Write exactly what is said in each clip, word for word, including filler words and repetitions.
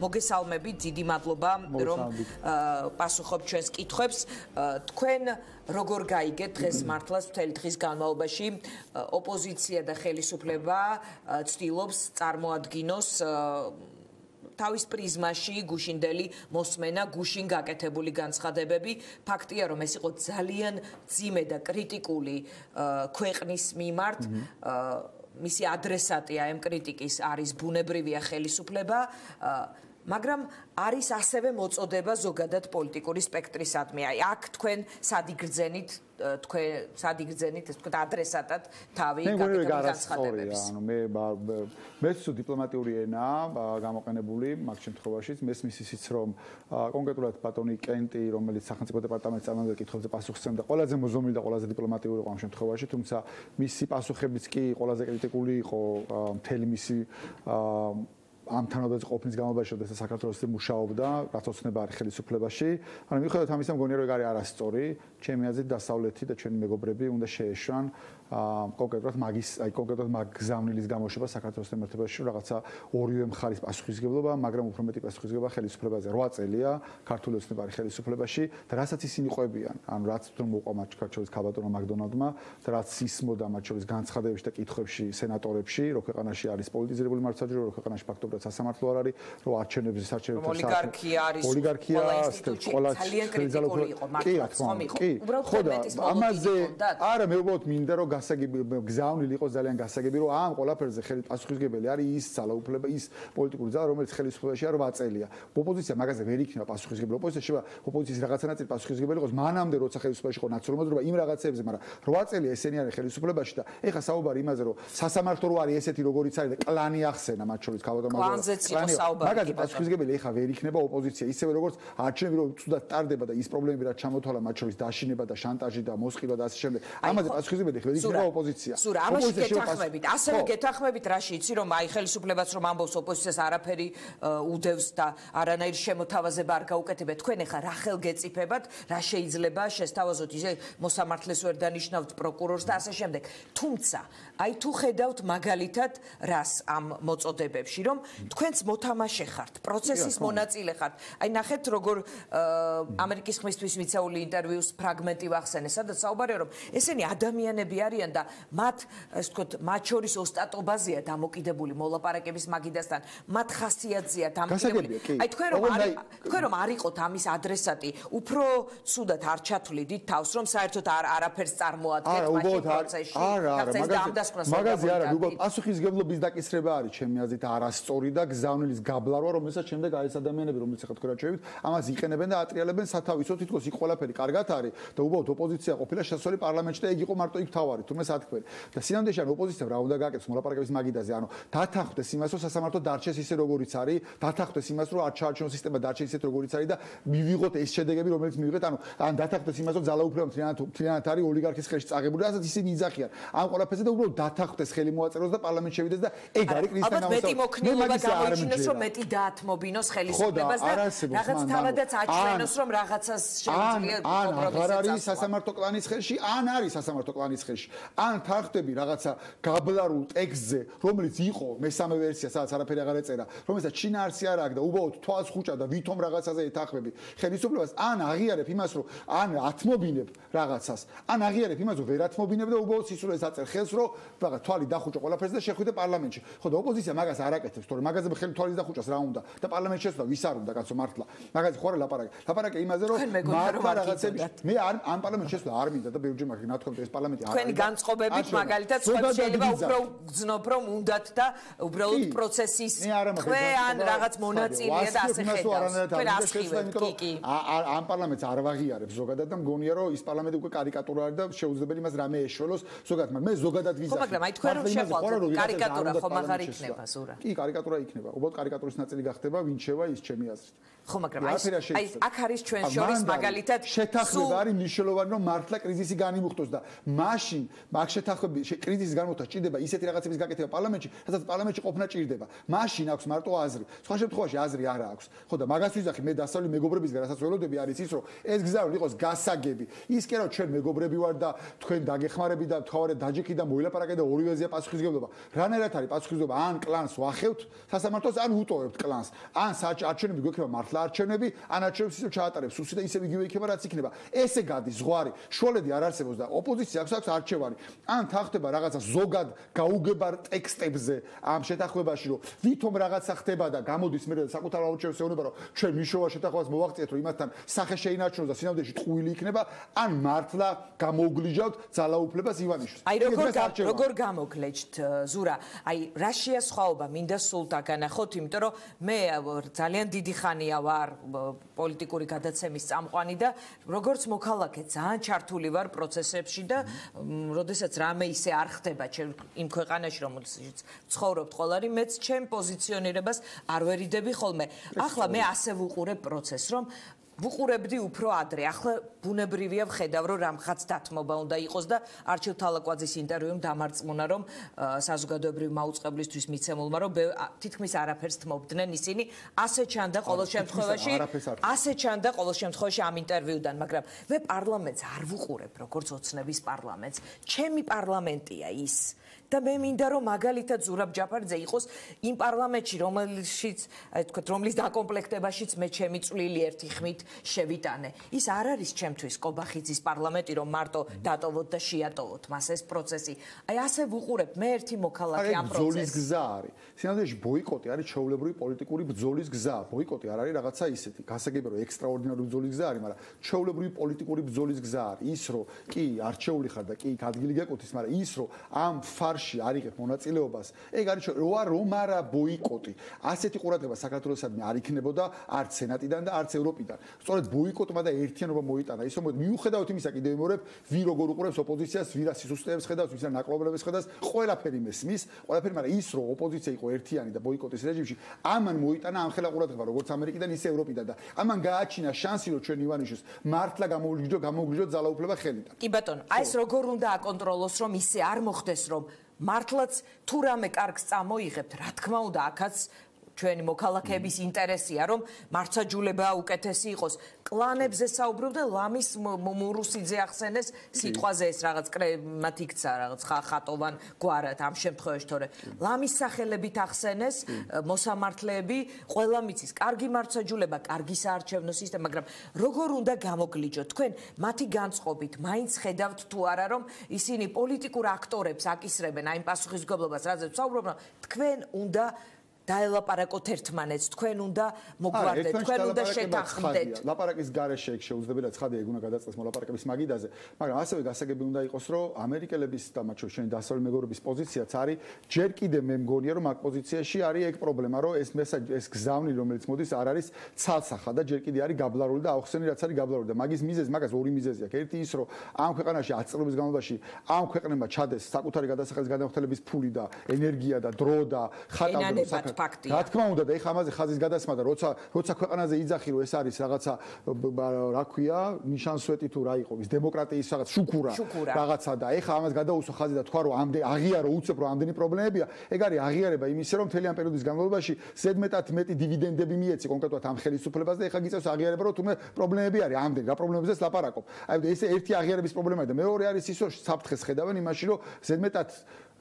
მოგესალმებით, დიდი მადლობა, რომ პასუხობთ ჩვენს კითხვებს. თქვენ როგორ გაიგეთ დღეს მართლაც მთელი დღის განმავლობაში ოპოზიცია და ხელისუფლება ცდილობს წარმოადგინოს თავის პრიზმაში გუშინდელი მოსმენა, გუშინ გაკეთებული განცხადებები. ფაქტია, რომ ეს იყო ძალიან ძიმე და კრიტიკული ქვეყნის მიმართ. მისი ადრესატია ამ კრიტიკის არის ბუნებრივია ხელისუფლება, მაგრამ არის ასევე მოწოდება ზოგადად პოლიტიკური სპექტრისადმი. აი, აქ თქვენ სად იგრძენით, თქვენ სად იგრძენით, ეს თქვენ ადრესატად თავი გაკეთებული განცხადებების. ანუ მე მეც დიპლომატიური ენაა გამოყენებული მაგ შემთხვევაშიც, მესმის ისიც რომ კონკრეტულად ბატონი კენტი, რომელიც სახელმწიფო დეპარტამენტის წარმომადგენელი კითხვებზე პასუხს სცემდა, ყველაზე მოზომილი და ყველაზე დიპლომატიური იყო ამ შემთხვევაში, თუმცა მისი პასუხებიც კი ყველაზე კრიტიკული იყო მთელი მისი ამ თანამდებობის ყოფნის განმავლობაში, როდესაც საქართველოს მუშაობდა, რაც ოცნება არის ხელისუფლებაში. ანუ მიუხედავად ამისა, მგონია რომ ეგ არის არასწორი, ჩემი აზრით დასავლეთი და ჩვენი მეგობრები უნდა შეეშვან კონკრეტულად მაგის, აი კონკრეტულად მაგ გზავნილის გამოშვება საქართველოს მართებაში, რომ რაღაცა ორივე მხარის პასუხისგებლობა, მაგრამ უფრო მეტი პასუხისგებლობა ხელისუფლებაზე. რვა წელია ქართული ოცნება არის ხელისუფლებაში და რასაც ისინი ყვებიან, ანუ რაც თვითონ მოყვა მათ ქართლის ქაბატონმა მაკდონალდმა და რაც ისმოდა მათ შორის განცხადებებში და კითხვებში სენატორებში, რომ ქვეყანაში არის პოლიტიზირებული მართლმსაჯულება, რომ ქვეყანაში ფაქტობრივად სასამართლო არ არის, რომ არჩევნების არჩევნებს ოლიგარქია არის, ოლიგარქია ყველა ძალიან კრიტიკული იყო მართლაც ხომ იყო. უბრალოდ მეტის ამაზე არა მე უბრალოდ მინდა რომ გასაგები გზავნილი იყოს ძალიან გასაგები რომ ამ ყველაფერზე ხელი პასუხისგებელი არის ის ძალაუფლება ის პოლიტიკური ძალა რომელიც ხელისუფლებაშია რვა წელია. ოპოზიცია მაგაზე ვერ იქნება პასუხისგებელი. ოპოზიცია შევა ოპოზიციის რაღაცა ნაწილი პასუხისგებელი იყოს მანამდე როცა ხელისუფლებაში იყო ნაციონალური მოძრაობა იმ რაღაცებზე, მაგრამ რვა წელი ესენი არის ხელისუფლებაში და ეხა საუბარი იმაზე რომ სასამართლო რო არის ესეთი როგორიც არის და კლანი ახსენა მათ შორის ქალბატონმა მაგაზე პასუხისგებელი ეხა ვერ იქნება ოპოზიცია ისევე როგორც არჩევნები რომ თუდად ტარდება და ის პრობლემები რაც ჩამოთვალა მათ შორის დაშინება და შანტაჟი და მოსყიდვა და ასე შემდეგ ამაზე პასუხისგებელი ვერ იქნება ოპოზიცია. სურა, ამაში გეთანხმებით. ასევე გეთანხმებით რაში იცი რომ აი ხელისუფლებაც რომ ამბობს ოპოზიციას არაფერი უდევს და არანაირ შემოთავაზება არ გაუკეთებია. თქვენ ეხა რა ხელგეწიფებათ, რა შეიძლება შესთავაზოთ ისე მოსამართლეს ვერ დანიშნავთ პროკურორს და ასე შემდეგ. თუმცა აი თუ ხედავთ მაგალითად რას ამ მოწოდებებში რომ თქვენც მოთამაშე ხართ, პროცესის მონაწილე ხართ. აი ნახეთ როგორ ამერიკის ხმისთვის მიცეული ინტერვიუს ფრაგმენტი ვახსენე, სადაც საუბარია რომ ესენი ადამიანები არიან და მათ ასე ვთქვათ, მათ შორის ოსტატობაზეა დამოკიდებული მოლაპარაკების მაგიდასთან, მათ ხასიათზეა დამოკიდებული. აი თქვენ რომ თქვენ რომ არ იყოთ ამის ადრესატი, უფრო ცუდად არ ჩათვლიდით თავს, რომ საერთოდ არაფერს წარმოადგენთ მაშინ პროცესში. არა, არა, მაგაზე არა, უბრალოდ პასუხისგებლობის დაკისრება არის ჩემი აზრით არასწორი და გზავნილის გაბლარვა, რომელსაც შემდეგ არის ადამიანები, რომელიც ახლა თქვენ რაჩვევით, ამას იყენებენ და ატრიალებენ სათავისო, თითქოს იქ ყველაფერი კარგად არის და უბრალოდ ოპოზიცია ყოფილა შესასვლელი პარლამენტში და ეგ იყო მარტო იქ თავარი, თუმცა სათქმელი. და სინამდვილეში ან ოპოზიციამ რა უნდა გააკეთოს მოლაპარაკების მაგიდაზე, ანუ დათანხმდეს იმას, რომ სასამართლო დარჩეს ისე როგორიც არის, დათანხმდეს იმას, რომ არჩევნო სისტემა დარჩეს ისე როგორიც არის და მივიღოთ ეს შედეგები, რომელიც მივიღეთ, ანუ ან დათანხმდეს იმას, რომ ძალაუფლება მთლიანად არის ოლიგარქის ხელში წაღებული, რასაც ისინი იძახიან. ამ ყველაფერზე და უბრალოდ დათანხმდეს ხელი მოაწეროს და პარლამენტში შევიდეს და ეგ არის კრიზისთან გამოიჩინოს რომ მეტი დაათმობინოს ხელისუფლებას და რაღაც თავადაც აჩვენოს რომ რაღაცას შეუძლია კომპრომისს არ არის სასამართლო კლანის ხელში ან არის სასამართლო კლანის ხელში ან თანხდები რაღაცა გაბლარულ ტექსტზე რომელიც იყო მესამე ვერსია სადაც არაფერი აღარ ეწერა რომელსაც შინაარსი არ აქვს და უბრალოდ თვალს ხუჭა და ვითომ რაღაცაზე ეთანხმები ხელისუფლებას ან აღიარებ იმას რომ ან ათმობინებ რაღაცას ან აღიარებ იმას რომ ვერ ათმობინებ და უბრალოდ სისულელს აწერ ხელს რომ რაღაც თვალი დახუჭო ყველაფერს და შეხვიდე პარლამენტში ხო და ოპოზიცია მაგას არ აკეთებს თორე მაგაზე ხელი თვალის დახუჭას რა უნდა და პარლამენტში შეცდა ვის არ უნდა კაცო მართლა მაგაზე ხო არა ლაპარაკი ლაპარაკი იმაზე რომ მართლა რაღაცები მე არ ამ პარლამენტში შეცდა არ მინდა და ბევრჯერ მაგ ნათქვამთ ეს პარლამენტი არ თქვენი განწყობებით მაგალითად სხვა შეიძლება უფრო გძნობ რომ უნდათ და უბრალოდ პროცესის ხვე ან რაღაც მონაწილეა და ასე ხედავს ამ პარლამენტს არ ვაღიარებს ზოგადად და მგონია რომ ის პარლამენტი უკვე კარიკატურა არის და შეუძლებელი იმას რამე ეშველოს ზოგადად მაგრამ მე ზოგადად ვიზახი ხო მაგრამ აი თქვენ რომ შეხვდათ კარიკატურა ხომ აღარ იქნება ზურა კი კარიკატურა იქნება უბრალოდ კარიკატურის ნაწილი გახდება ვინ შევა ის ჩემი აზრით ხო მაგრამ აი აქ არის ჩვენ შორის მაგალითად შეთანხმება არის მნიშვნელოვანი რომ მართლა კრიზისი განიმუხტოს და მაშინ მაგ შეთანხმების კრიზისის განმოხდა ჭირდება ისეთი რაღაცების გაკეთება პარლამენტში, სადაც პარლამენტში ყოფნა ჭირდება. მაშინ აქვს მარტო აზრი. სხვა შემთხვევაში აზრი არ აქვს. ხო და მაგას ვიზახი მე დასავლი მეგობრებისგან, რასაც ველოდები არის ის, რომ ეს გზავნილი იყოს გასაგები. ის კი რა ჩვენ მეგობრები ვარ და თქვენ დაგეხმარები და თავარად დაჯექი და მოილაპარაკე და ორივეზეა პასუხისმგებლობა. რანაირად არის პასუხისმგებლობა? ან კლანს ვახევთ სასამართლოს, ან უტოვებთ კლანს. ან არჩევნები გვექნება მართლა არჩევნები, ან არჩევნებს ისევ ჩაატარებს სუსი და ისევ იგივე იქნება რაც იქნება. ესე გადის ზღვარი. შუალედი არ არსებობს და ოპოზიცია აქვს აქვს არჩევანი. ან თანხდება რაღაცა ზოგად გაუგებარ ტექსტებზე ამ შეთანხმებაში, რომ ვითომ რაღაცა ხდება და გამოდის მე საკუთარ არჩევნებს ეუბნება, რომ ჩვენ მიშოვა შეთანხმებას მოვაღწიეთ, რომ იმასთან სახე შეინარჩუნოს და სინამდვილეში ტყუილი იქნება, ან მართლა გამოუგლიჯავთ ძალაუფლებას ივანიშვილს. აი როგორ როგორ გამოგლეჯთ ზურა? აი რა შეასხვაობა მინდა სულ დაგანახოთ, იმიტომ რომ მე ძალიან დიდი ხანია ვარ პოლიტიკური გადაცემის წამყვანი და როგორც მოქალაქე ძალიან ჩართული ვარ პროცესებში და როდესაც რამე ისე არ ხდება იმ ქვეყანაში, რომელშიც ცხოვრობთ ყველანი, მეც ჩემ პოზიციონირებას არ ვერიდები ხოლმე. ახლა მე ასე ვუყურებ პროცესს, რომ ვუყურებდი უფრო ადრე. ახლა ბუნებრივია ვხედავ, რომ რამხაც დათმობა უნდა იყოს და არჩილ თალაკვაძის ინტერვიუმ დამარწმუნა, რომ საზოგადოებრივი მაუწყებლისთვის მიცემულმა, რომ თითქმის არაფერს თმობდნენ ისინი. ასე ჩანდა ყოველ შემთხვევაში, ასე ჩანდა ყოველ შემთხვევაში ამ ინტერვიუდან, მაგრამ მე პარლამენტს არ ვუყურებ, როგორც ოცნების პარლამენტს. ჩემი პარლამენტია ის. და მე მინდა რომ მაგალითად ზურაბ ჯაფარიძე იყოს იმ პარლამენტში, რომელშიც, აი თქვა, რომლის დაკომპლექტებაშიც მე ჩემი წვლილი ერთი ხმით შევიტანე. ის არ არის ჩემთვის კობახიძის პარლამენტი, რომ მარტო დატოვოთ და შეატოვოთ მას ეს პროცესი. აი ასე ვუყურებ მე ერთი მოქალაქე ამ პროცესს. ბრძოლის გზა არის. სინამდვილეში ბოიკოტი არის ჩვეულებრივი პოლიტიკური ბრძოლის გზა. ბოიკოტი არ არის რაღაცა ისეთი. გასაგებია რომ ექსტრაორდინარული ბრძოლის გზა არის, მაგრამ ჩვეულებრივი პოლიტიკური ბრძოლის გზა არის. ის რომ კი არჩეული ხარ და კი ადგილი გეკუთვნის, მაგრამ ის რომ ამ ფარში არ იღებ მონაწილეობას, ეგ არის როა რომ არა ბოიკოტი. ასეთი ყურადღება საქართველოსადმი არ იქნებოდა არც სენატიდან და არც ევროპიდან. სწორედ ბოიკოტმა და ერთიანობა მოიტანა. ის რომ მიუხედავად იმისა, კიდევ ვიმეორებ, ვინ როგორ უყურებს ოპოზიციას, ვინ რა სისუსტეებს ხედავს, ვინ რა ნაკლობლებს ხედავს, ყველაფერი მესმის, ყველაფერი, მაგრამ ის რომ ოპოზიცია იყო ერთიანი და ბოიკოტის რეჟიმში, ამან მოიტანა ამხელა ყურადღება როგორც ამერიკიდან, ისე ევროპიდან და ამან გააჩინა შანსი, რომ ჩვენ ივანიშვილს მართლა გამოუგლიჯო, გამოუგლიჯო ძალაუფლება ხელიდან. კი ბატონო, აი ეს როგორ უნდა აკონტროლოს, რომ ისე არ მოხდეს, რომ მართლაც თუ რამე კარგს წამოიღებთ, რა თქმა უნდა, აქაც ჩვენი მოქალაქეების ინტერესია, რომ მარცაჯულება უკეთესი იყოს. კლანებზე საუბრობდნენ, ლამის მურუსიძე ახსენეს სიტყვაზე ეს რაღაც კრემათ იქცა, რაღაც ხატოვან გვარად ამ შემთხვევაში, თორე ლამის სახელებით ახსენეს მოსამართლეები, ყველა მიცის, კარგი მარცაჯულება, კარგი საარჩევნო სისტემა, მაგრამ როგორ უნდა გამოგლიჯოთ? თქვენ მათი განწყობით მაინც ხედავთ თუ არა, რომ ისინი პოლიტიკურ აქტორებს აკისრებენ აი იმ პასუხისმგებლობას, რაზეც საუბრობენ, თქვენ უნდა დაელაპარაკოთ ერთმანეთს, თქვენ უნდა მოგვარდეთ, თქვენ უნდა შეთანხმდეთ. ლაპარაკის გარეშე ეგ შეუძლებელი და ცხადია ეგ უნდა გადაწყვეტს მოლაპარაკების მაგიდაზე, მაგრამ ასევე გასაგები უნდა იყოს, რომ ამერიკელების და მათ შორის დასავლელი მეგობრების პოზიციაც არის, ჯერ კიდე მე მგონია, რომ აქ პოზიციაში არის ეგ პრობლემა, რომ ეს მესაჯი, ეს გზავნილი, რომელიც მოდის, არ არის ცალსახა და ჯერ კიდე არის გაბლარული და აუხსენი, რაც არის გაბლარული და მაგის მიზეზი, მაგას ორი მიზეზი აქვს. ერთი ის, რომ ამ ქვეყანაში ათი წლების განმავლობაში ამ ქვეყნებმა ჩადეს საკუთარი გადასახადის გადამხდელების ფული და ენერგია და დრო და ხატავდა ფაქტია. რა თქმა უნდა და ეხა ამაზე ხაზის გადასმა და როცა როცა ქვეყანაზე იძახი რომ ეს არის რაღაცა რა ქვია ნიშანსვეტი თუ რა იყო ის დემოკრატიის რაღაც შუქურა რაღაცა და ეხა ამას გადაუსვა ხაზი და თქვა რომ ამდენ აღიარო უცებ რომ ამდენი პრობლემებია ეგ არის აღიარება იმისა რომ მთელი ამ პერიოდის განმავლობაში ზედმეტად მეტი დივიდენდები მიეცი კონკრეტულად ამ ხელისუფლებას და ეხა გიწევს აღიარება რომ თუმე პრობლემები არის ამდენ რა პრობლემებზეც ლაპარაკობ აი ეს ერთი აღიარების პრობლემაა და მეორე არის ის რომ საფრთხეს ხედავენ იმაში რომ ზედმეტად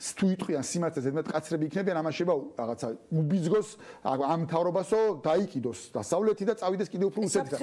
თუ იტყვიან სიმართლე ზედმეტ კაცრები იქნებიან ამაშება რაღაცა უბიძგოს ამ თავრობასო დაიკიდოს დასავლეთი და წავიდეს კიდევ უფრო უსეთით.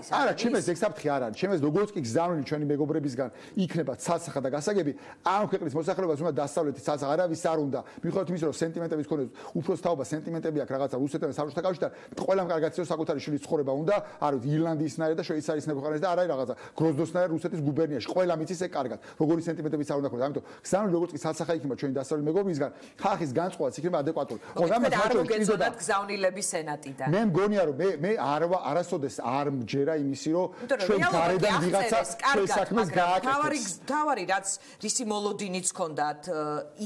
არა, ჩემს ეგ საფრთხე არ არის. ჩემს როგორც კი გზავნილი ჩვენი მეგობრებისგან იქნება ცალსახა და გასაგები, ამ ქვეყნის მოსახლეობას უნდა დასავლეთი ცალსახა არავის არ უნდა. მიუხედავად იმისა, რომ სენტიმენტების ქონდეს უფროს თაობა სენტიმენტები აქვს რაღაცა რუსეთთან და საბჭოთა კავშირთან, ყველამ კარგად იცის საკუთარი შვილის ცხოვრება უნდა, არ ვიცი ირლანდიისნაირად და შვეიცარიისნაირად ქვეყანაში და არა რაღაცა გროზნოსნაირად რუსეთის გუბერნიაში. ყველამ იცის ეგ კარგად. როგორი სენტიმენტებიც არ უნდა ქონდეს. ამიტომ გზავნილი როგორც კი ცალსახა იქნება ჩვენ ჩვენი დასავლელი მეგობრისგან ხალხის განწყობაც იქნება ადეკვატური. ხო, ამას არ მოგეწონათ გზავნილების სენატიდან. მე მგონია რომ მე მე არ არასოდეს არ მჯერა იმისი რომ ჩვენ გარედან ვიღაცა ჩვენ საქმეს გააკეთებს. თავარი თავარი რაც რისი მოლოდინიც ჰქონდათ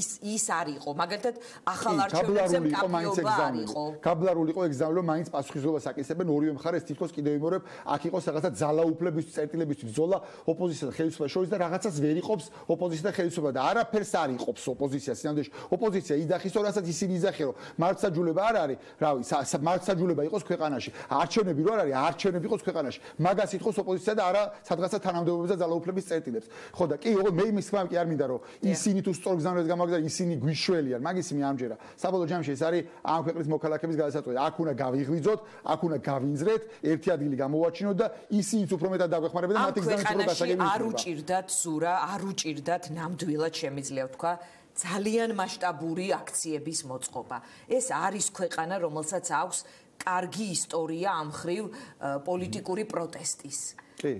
ის ის არ იყო. მაგალითად ახალ არჩევნებზე მკაფიობა არ იყო. გაბლარული იყო ეგზამენო რომ მაინც პასუხისმგებლობას აკისრებენ ორივე მხარეს თითქოს კიდევ იმორებ აქ იყოს რაღაცა ძალაუფლების წერტილებისთვის ბრძოლა ოპოზიციასთან ხელისუფლებას შორის და რაღაცას ვერ იყოფს ოპოზიციასთან ხელისუფლება და არაფერს არ იყოფს ოპოზიციას სინამდვილეში ოპოზიცია იძახის რომ რასაც ისინი იძახენ რომ მართლმსაჯულება არ არის რავი მართლმსაჯულება იყოს ქვეყანაში არჩევნები რო არ არის არჩევნები იყოს ქვეყანაში მაგას ითხოვს ოპოზიცია და არა სადღაცა თანამდებობებს და ძალაუფლების წერტილებს ხო და კი მე იმის თქმა კი არ მინდა რომ ისინი თუ სწორ გზავნილებს გამაგზავნեն ისინი გვიშველიან მაგის მე ამჯერა საბოლოო ჯამში ეს არის ამ ქვეყნის მოქალაქეების გადასაწყვეტი აქ უნდა გავიღვიძოთ აქ უნდა გავინძრეთ ერთი ადგილი გამოვაჩინოთ და ისინიც უფრო მეტად დაგვეხმარებენ და მათი გზავნილების უფრო გასაგები არ უჭირდათ სურა არ უჭირდათ ნამდვილად შემიძლია ვთქვა ძალიან მასშტაბური აქციების მოწყობა ეს არის ქვეყანა რომელსაც აქვს კარგი ისტორია ამ ხრივ პოლიტიკური პროტესტის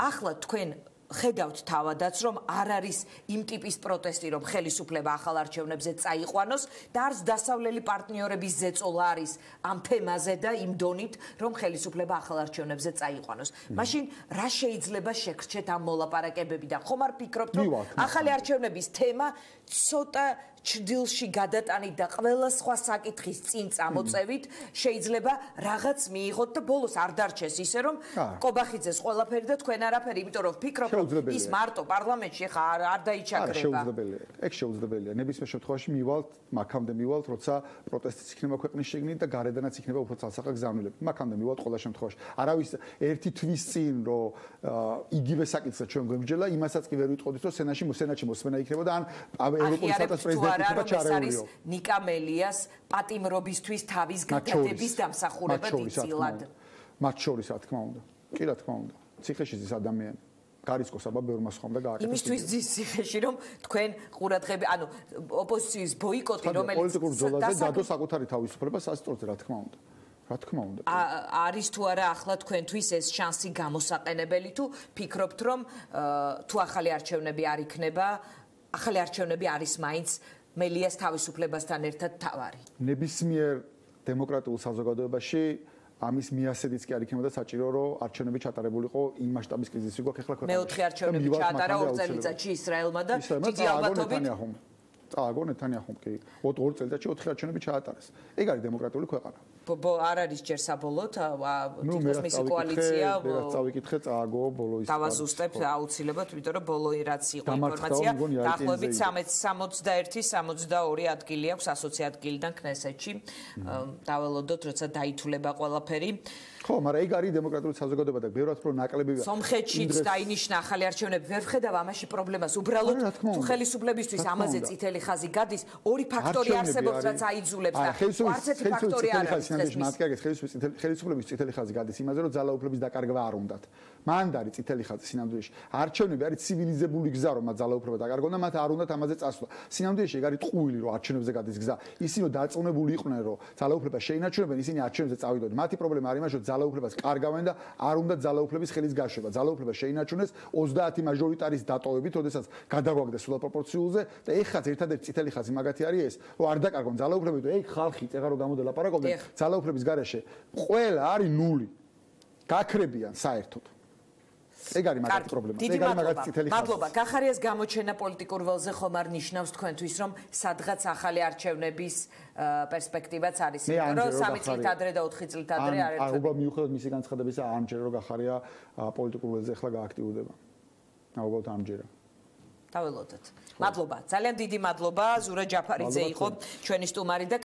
ახლა თქვენ ხედავთ თავადაც რომ არ არის იმ ტიპის პროტესტი რომ ხელისუფლება ახალ არჩევნებზე წაიყვანოს და არც დასავლელი პარტნიორების ზეწოლა არის ამ თემაზე და იმ დონით რომ ხელისუფლება ახალ არჩევნებზე წაიყვანოს მაშინ რა შეიძლება შეგრჩეთ ამ მოლაპარაკებებიდან ხომ არ ფიქრობთ რომ ახალი არჩევნების თემა ცოტა ჭდილში გადატანით და ყველა სხვა საკითხის წინ წამოწევით შეიძლება რაღაც მიიღოთ და ბოლოს არ დარჩეს ისე რომ კობახიძეს ყველაფერი და თქვენ არაფერი იმიტომ რომ ვფიქრობ რომ ის მარტო პარლამენტში ხა არ დაიჩაგრება შეუძლებელია ეგ შეუძლებელია ნებისმიერ შემთხვევაში მივალთ მაქამდე მივალთ როცა პროტესტიც იქნება ქვეყნის შიგნით და გარედანაც იქნება უფრო ცალსახა გზავნილები მაქამდე მივალთ ყველა შემთხვევაში არავის ერთი თვის წინ რომ იგივე საკითხზე ჩვენ გვემჯელა იმასაც კი ვერ ვიტყოდით რომ სენატში სენატში მოსმენა იქნება და ან ევროპული სათას პრეზიდენტი არის ნიკა მელიას პატიმრობისთვის თავის გადადების დამსახურება დიდწილად. მათ შორის რა თქმა უნდა. კი რა თქმა უნდა. ციხეში ზის ადამიანი. გარისკოს აბა ბევრმა სხვამ და გააკეთა. იმისთვის ზის ციხეში რომ თქვენ ყურადღები, ანუ ოპოზიციის ბოიკოტი რომელიც პოლიტიკურ ბრძოლაზე დადო საკუთარი თავისუფლება სასწორზე რა თქმა უნდა. რა თქმა უნდა. არის თუ არა ახლა თქვენთვის ეს შანსი გამოსაყენებელი თუ ფიქრობთ რომ თუ ახალი არჩევნები არ იქნება, ახალი არჩევნები არის მაინც მელიას თავისუფლებასთან ერთად თავარი. ნებისმიერ დემოკრატიულ საზოგადოებაში ამის მიასედიც კი არ იქნებოდა საჭირო რომ არჩევნები ჩატარებულიყო იმ მასშტაბის კრიზისი გვაქვს ახლა ქვეყანაში. მეოთხე არჩევნები ჩაატარა ორ წელიწადში ისრაელმა და დიდი ალბათობით წააგო ნეთანიაჰუმ კი ორ წელიწადში ოთხი არჩევნები ჩაატარეს. ეგ არის დემოკრატიული ქვეყანა. არ არის ჯერ საბოლოოდ თითქოს მისი კოალიცია რაც წავიკითხე წააგო ბოლო ის დავაზუსტებ აუცილებლად იმიტომ რომ ბოლო რაც იყო ინფორმაცია დაახლოებით სამოცდაერთი სამოცდაორი ადგილი აქვს ასოცი ადგილიდან ქნესეთში დაველოდოთ როცა დაითვლება ყველაფერი ხო, მაგრამ ეგ არის დემოკრატიული საზოგადოება და ბევრად უფრო ნაკლებია. სომხეთშიც დაინიშნა ახალი არჩევნები, ვერ ვხედავ ამაში პრობლემას. უბრალოდ თუ ხელისუფლებისთვის ამაზე წითელი ხაზი გადის, ორი ფაქტორი არსებობს, რაც აიძულებს და არც ერთი ფაქტორი არ არის. ხელისუფლების წითელი ხაზი გადის იმაზე, რომ ძალაუფლების დაკარგვა არ უნდათ. მანდ არის წითელი ხაზი სინამდვილეში. არჩევნები არის ცივილიზებული გზა, რომ მათ ძალაუფლება დაკარგონ და მათ არ უნდათ ამაზე წასვლა. სინამდვილეში ეგ არის ტყუილი, რომ არჩევნებზე გადის გზა. ისინი რომ დარწმუნებული იყვნენ, რომ ძალაუფლება შეინარჩუნებენ, ისინი არჩევნებზე წავიდოდნენ. მათი პრობლემა არის იმაში, რომ ძალაუფლებას კარგავენ და არ უნდა ძალაუფლების ხელის გაშვება. ძალაუფლება შეინარჩუნეს ოცდაათი მაჟორიტარის დატოვებით, როდესაც გადაგვაგდეს სულ პროპორციულზე და ეხაც ერთადერთი წითელი ხაზი მაგათი არის ეს, რომ არ დაკარგონ ძალაუფლები და ეგ ხალხი წეღარო გამოდელაპარაკობდნენ ძალაუფლების garaშე. ყველა არის ნული. გაქრებიან საერთოდ. ეგ არის მაგათი პრობლემა. ეგ არის მაგათი წითელი ხაზი. მადლობა. გახარიას გამოჩენა პოლიტიკურ ველზე ხომ არ ნიშნავს თქვენთვის, რომ სადღაც ახალი არჩევნების პერსპექტივაც არის, რომ სამი წლით ადრე და ოთხი წლით ადრე არ ერთად. არ უბრალოდ მიუხედავად მისი განცხადებისა, ამჯერა რომ გახარია პოლიტიკურ ველზე ახლა გააქტიურდება. უბრალოდ ამჯერა. დაველოდოთ. მადლობა. ძალიან დიდი მადლობა. ზურა ჯაფარიძე იყო ჩვენი სტუმარი და